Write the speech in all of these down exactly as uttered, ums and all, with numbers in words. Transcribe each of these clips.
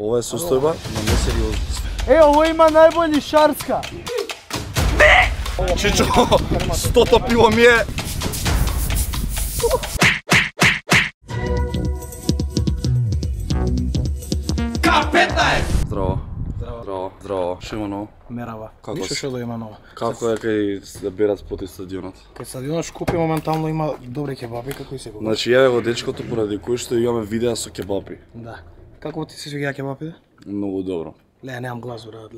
Ова е состојба на несериозност. Е, ово има најбољи шарска. Чичо, стото пиво ми е. Капета е! Здраво. Здраво. Здраво. Шо има ново? Мерава. Како Ништо си? што да има ново. Како е кај да берат споти стадионот? Кај стадионот Шкупи моментално има добри кебапи, како и секогаш. Значи јаве го дечкото поради кој што имаме видеа со кебапи. Да. Како ти се свиѓа кебапите? Многу добро. Ле, немам глас, брат.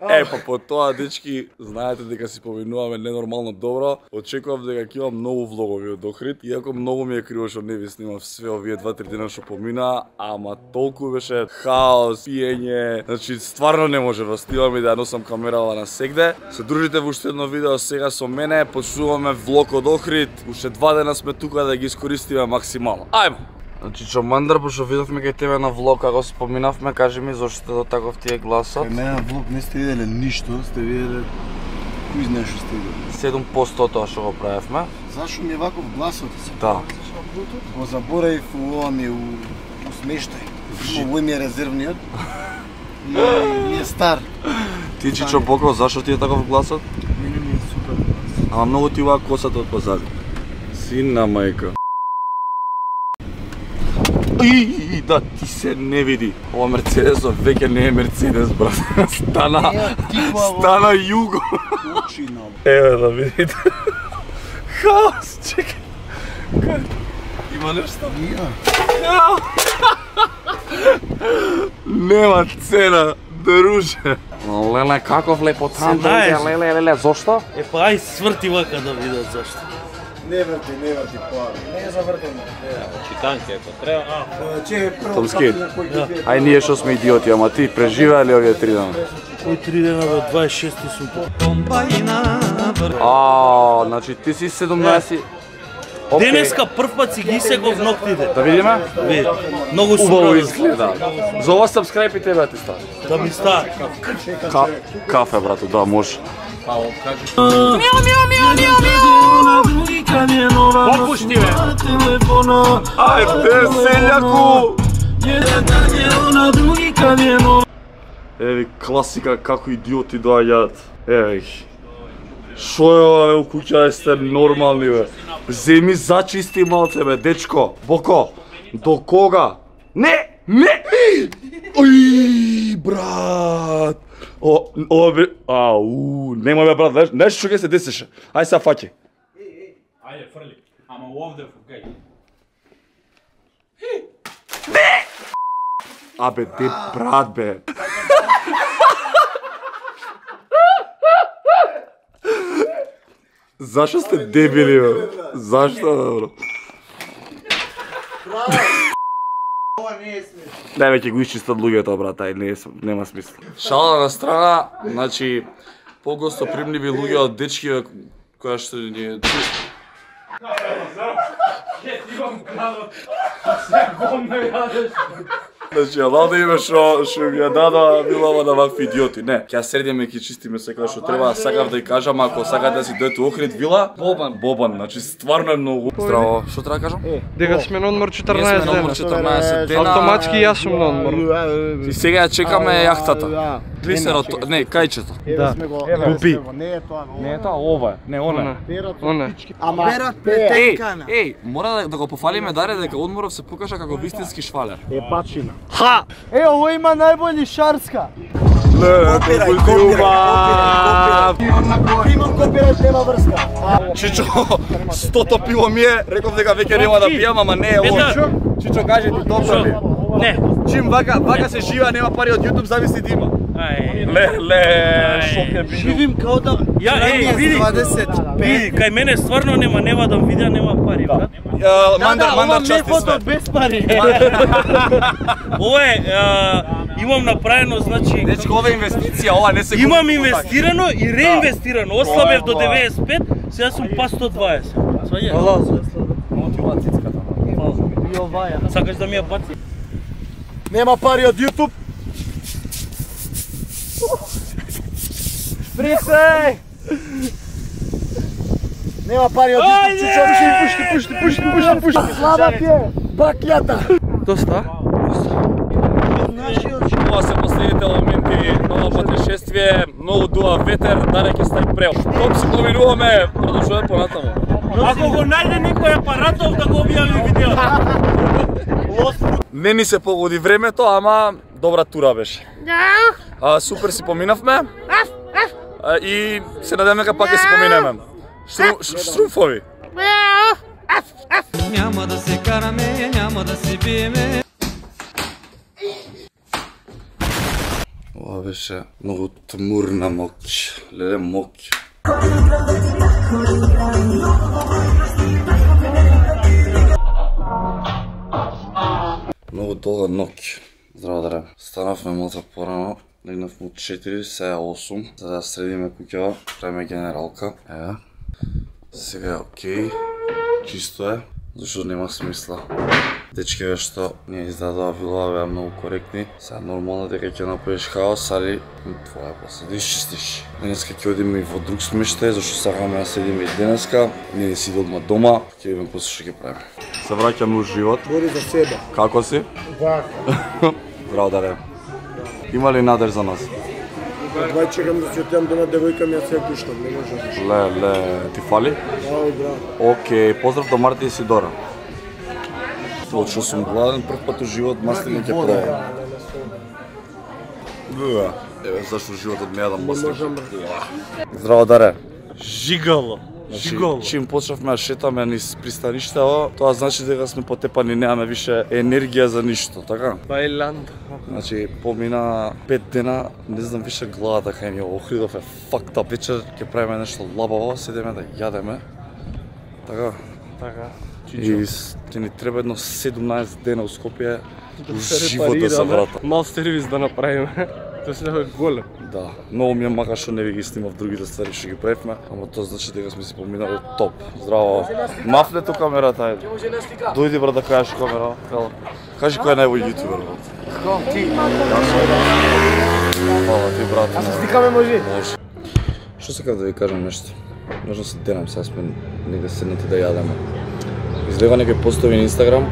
Е, па по тоа, дечки, знаете дека си поминуваме ненормално добро. Очекувам дека ќе имам многу влогови од Охрид, иако многу ми е криво што не ви снимав све овие два-три дена што помина, ама толку беше хаос, пиење, значи стварно не може да снимам и да носам камерава на сегде. Се дружите во уште едно видео сега со мене, почнуваме влог од Охрид, уште два дена сме тука да ги искористиме максимално. Ајмо! Значи Чомандар, пошто видовме кај тебе на влог, како споминавме, кажи ми зошто до таков ти е гласот? Кај мене на влог не сте виделе ништо, сте виделе кој знае што сте виделе. седум проценти тоа што го правевме. Зашо ми е ваков гласот? Да. Го заборавив у ова ми у, у смештај. Овој ми е резервниот. И ми е стар. Ти Чичо Боков, зашо ти е таков гласот? Мене ми е супер глас. Ама многу ти ова косата од позади. Сина мајка. И, да, ти се не види. Ова Мерцедесот веќе не е Мерцедес, брат. Стана, стана Југо. Учина. Еве да видите. Хаос, чекай. Има нешто? Ја. Нема цена, друже. Леле, каков лепотан, леле, леле, зошто? Е, па ај сврти вака да видат зашто. Не врти, не врти поа. Не е завртено. Читанке, ако треба. А, Че прво Томски. пат на кој ги пие. Ај ние што сме идиоти, ама ти преживеа ли овие три дена? кој три дена до дваесет и шести сум. А, значи ти си седумнаесет. Океј. Денеска прв пат си ги секов ноктите. Да видиме? Ви, многу Убаво сумраво изгледа. За ова сабскрајб и тебе ти стави. да ми ста. Ка кафе, брато, да, може. Попушти бе. Ајде, селјаку! Еви, класика, како идиоти доаѓаат. Еви, шо е ова, бе, у куќа сте нормални, бе. Земи зачисти малце, бе, дечко. Боко, до кога? Не, не! Ој, брат! О, ова бе, ау, нема бе, брат, знаеш, знаеш што ќе се десеше? Ај са фаќи. Ајде, фрли. Ама овде фукај. Абе, де брат, бе. Зашо сте дебили, бе? Зашто, бе, бро? Ова не е смешно. Дај веќе го исчистат луѓето, брат, ај, не, нема смисла. Шала на страна, значи, погостопримливи луѓе од дечки, бе, која што ни е... Значи, ала да име шо, шо ми ја дада Милова на вакви идиоти. Не, ќе ја средиме и ќе чистиме секоја што треба. Сакав да ја кажам, ако сакате да си дојдете у Охрид вила, Бобан. Бобан, значи стварно е многу. Здраво, што треба да кажам? Дека сме на одмор Ние четрнаесет сме на одмор дена. четрнаесет дена. Автоматски јас сум на одмор. И сега ја чекаме јахтата. Глисерот, не, кајчето. Да. Купи. Не е тоа, Не е тоа, ова е. Не, она. Оне. Ама Еј, еј, мора да, да го пофалиме Даре дека одморов се покажа како вистински швалер. е бачина. Ха! Е, ово има најбољи шарска. Ле, колку ти убав! Имам копирајт, нема врска. Чичо, стото пиво ми е, реков дека веќе нема да пијам, ама не е лошо. Чичо, кажи ти добро ли? Не. Чим вака, вака се жива, нема пари од YouTube, зависи да има. Ај. Ле, ле, шок е бидо. Живим као да... Ја, еј, види. Види, кај мене стварно нема, нема да видеа, нема пари, брат. Мандар, мандар части све. без пари. Ова е, имам направено, значи... Дечко, ова е инвестиција, ова не се... Имам инвестирано и реинвестирано. Ослабев до деветдесет и пет, сега сум па сто дваесет. Сваѓаш? Много ти ова цицката. И оваја. Сакаш да ми ја баци? Нема пари од YouTube. Присеј! Нема пари од YouTube. Чичо, пушти, пушти, пушти, пушти, пушти. Слаба ти е. Бакјата. Доста? дуа ветер, даре ќе стај прел. Топ си поминуваме, продолжуваме понатаму. Ако го најде некој апаратов да го објави видеото. Не ни се погоди времето, ама добра тура беше. А, супер си поминавме. А, и се надеваме дека пак ќе си поминеме. Штру, штруфови. Няма да се караме, няма да се биеме. Ова беше многу тмурна моќ, леле моќ. Многу долга ноќ. Здраво даре. Станавме малку порано, легнавме од четири, сега осум, за да средиме куќава, правиме генералка. Ева. Сега е окей, чисто е, зашто нема смисла. Дечкиве што не издадоа вилова беа многу коректни. Сега нормално дека ќе направиш хаос, али твоја после да исчистиш. Денеска ќе одиме и во друг смештај, зашто сакаме да седиме и денеска. Не ни си одма дома, ќе видиме после што ќе правиме. Се враќаме у живот. Бори за себе. Како си? Вака. Браво даре. Има ли надеж за нас? Двај чекам да се отидам дома, девојка ми ја се пуштам, не може. Ле, ле, ти фали? Ај, браво. Океј, поздрав до Марти и Сидора. Тоа што сум гладен, прв пат у живот маслини ќе пробам. Еве зашто животот не јадам маслини. Здраво даре. Жигало. Жигало. Чим почнавме да шетаме низ пристаништето, тоа значи дека сме потепани, немаме више енергија за ништо, така? Тајланд. Значи, помина пет дена, не знам више главата кај ни Охридов е fucked up. Вечер ќе правиме нешто лабаво, седеме да јадеме. Така? Така. И ќе ни треба едно седумнаесет дена у Скопје, живот да се врата. Мал сервис да направиме. Тоа се е голем. Да, многу ми е мака што не ви ги снимав другите ствари што ги правивме, ама тоа значи дека сме си поминали топ. Здраво. Мафне ту камерата, ајде. Дојди брат да кажеш камера. Кажи кој е најбој јутубер, брат. Како ти? Фала ти, брат. А се стикаме може? Може. Што сакав да ви кажам нешто? Можам се денам, сега сме негде седнати да јадеме. Излева некој постови на Инстаграм,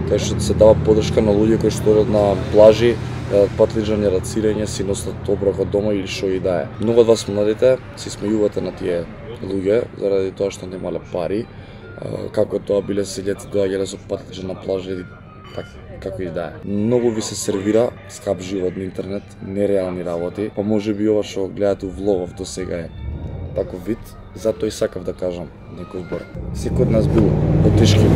кај што се дава подршка на луѓе кои што одат на плажи, патлиџање, рацирање, си носат оброка дома или што и да е. Многу од вас младите се смејувате на тие луѓе заради тоа што немале пари, како тоа биле селјаци доаѓале со патлиџа на плажа или така, како и да е. Многу ви се сервира скап живот на интернет, нереални работи, па може би ова што гледате у влогов до сега е таков вид, затоа и сакав да кажам некој збор. Секој од нас бил во тешки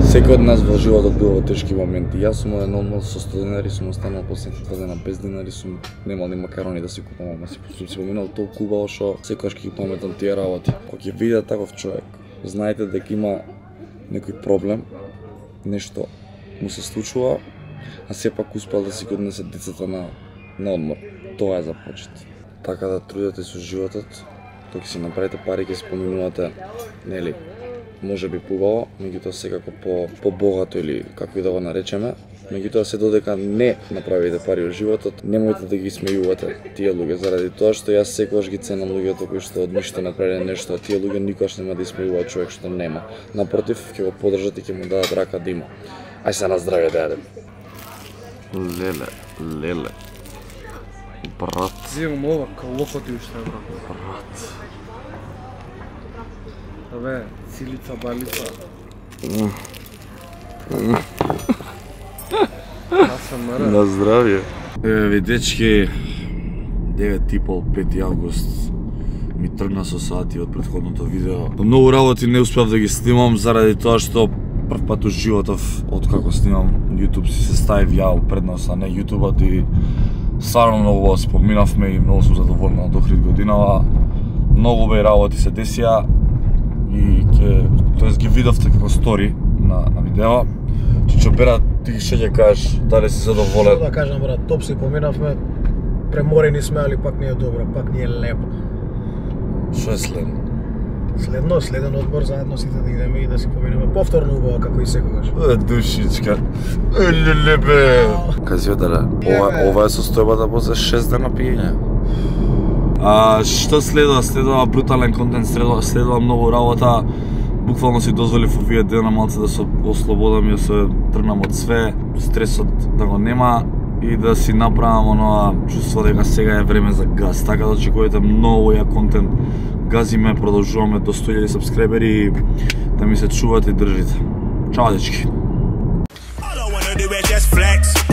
Секој од нас во животот бил во тешки моменти. Јас сум еден одмор со сто денари, сум останал последните два дена без денари, сум немал ни макарони да си купам, ама си сум си поминал толку убаво што секогаш ќе ги паметам тие работи. Кога ќе видите таков човек, знаете дека има некој проблем, нешто му се случува, а сепак успел да си го однесе децата на на одмор. Тоа е за почет. Така да трудете со животот, кога ќе си направите пари, ќе си поминувате, нели, може би побаво, меѓутоа секако по побогато или како и да го наречеме. Меѓутоа се додека не направите пари во животот, немојте да ги смејувате тие луѓе, заради тоа што јас секогаш ги ценам луѓето кои што од ништо направиле нешто, а тие луѓе никогаш нема да смејуваат човек што нема. Напротив, ќе го поддржат и ќе му дадат рака да има. Ај се на здравје да јадем. Леле, леле. Брат. Зимам ова калокоти уште, брат. Брат. Абе, цилица, балица. На здравје. Еве дечки, девет и пол, пети август ми тргна со сати од претходното видео. Многу работи не успеав да ги снимам заради тоа што прв пат у животов откако снимам YouTube си се ставив ја пред носа на YouTube-от и стварно многу се поминавме и многу сум задоволен од Охрид годинава. Многу беј работи се десија и ќе, тоест ги видовте како стори на, на видео. Чичо Бера, ти што ќе кажеш, дали си задоволен? Што да кажам, брат, топ си поминавме, преморени сме, али пак не е добро, пак не е лепо. Што е следно? Следно, следен одмор заедно сите да идеме и да си поминеме повторно убаво како и секогаш. Е, душичка. Елеле бе. Кази одаре, ова, ова е состојбата после шест дена пиење. А што следува? Следува брутален контент, следува, следува многу работа. Буквално си дозволив овие дена малце да се ослободам и да се тргнам од све, стресот да го нема и да си направам оноа чувство дека сега е време за газ. Така да очекувате многу ја контент. Газиме, продолжуваме до сто илјади сабскрибери и да ми се чувате и држите. Чао, дечки! Just flex.